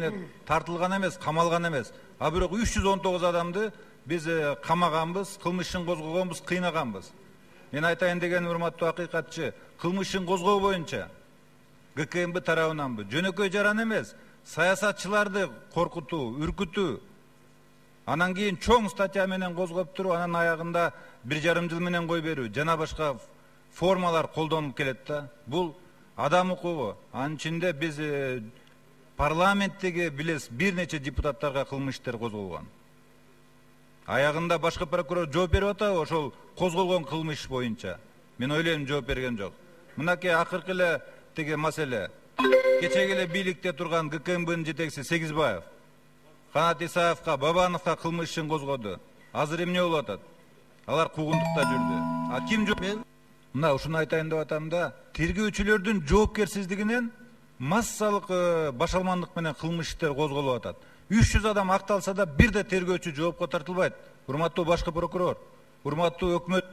ичине тартылган эмес, камалган эмес. А бирок 319 адамды биз камаганбыз, кылмыш ишин козгогонбуз, кыйнаганбыз. Мен айтайын деген урматтуу акыйкатчы, кылмыш ишин козгоо боюнча ГКМБ тарабынанбы, жөнөкөй жаран эмес, саясатчыларды коркутуу, үркүтүү, анан кийин чоң статья менен козгоп туруп, анан аягында 1,5 жыл менен кой берүү, жана башка формалар колдонуп келет да. Бул адам укугу. Анын ичинде биз парламенттеги билес бир нече депутаттарга кылмыш иштер козголгон. Аягында башкы прокурор жооп берип атабы ошол козголгон кылмыш боюнча? Мен ойлойм жооп берген жок. Мынакей акыркы эле тиги маселе. Кечеги эле бийликте турган ГКМБнын жетекчиси Сегизбаев Канат Исаевка, Бабановго кылмыш ишин козгоду. Азыр эмне болуп атат? Алар куугунтукта жүрдү. А ким жооп? Мына ушуну айтайын деп атам да, тергөөчүлөрдүн жоопкерсиздигинен массалык башалмандык менен кылмыш иштер козголуп атат. 300 адам акталса да бир да тергөөчү жоопко тартылбайт. Урматтуу башкы прокурор, урматтуу өкмөт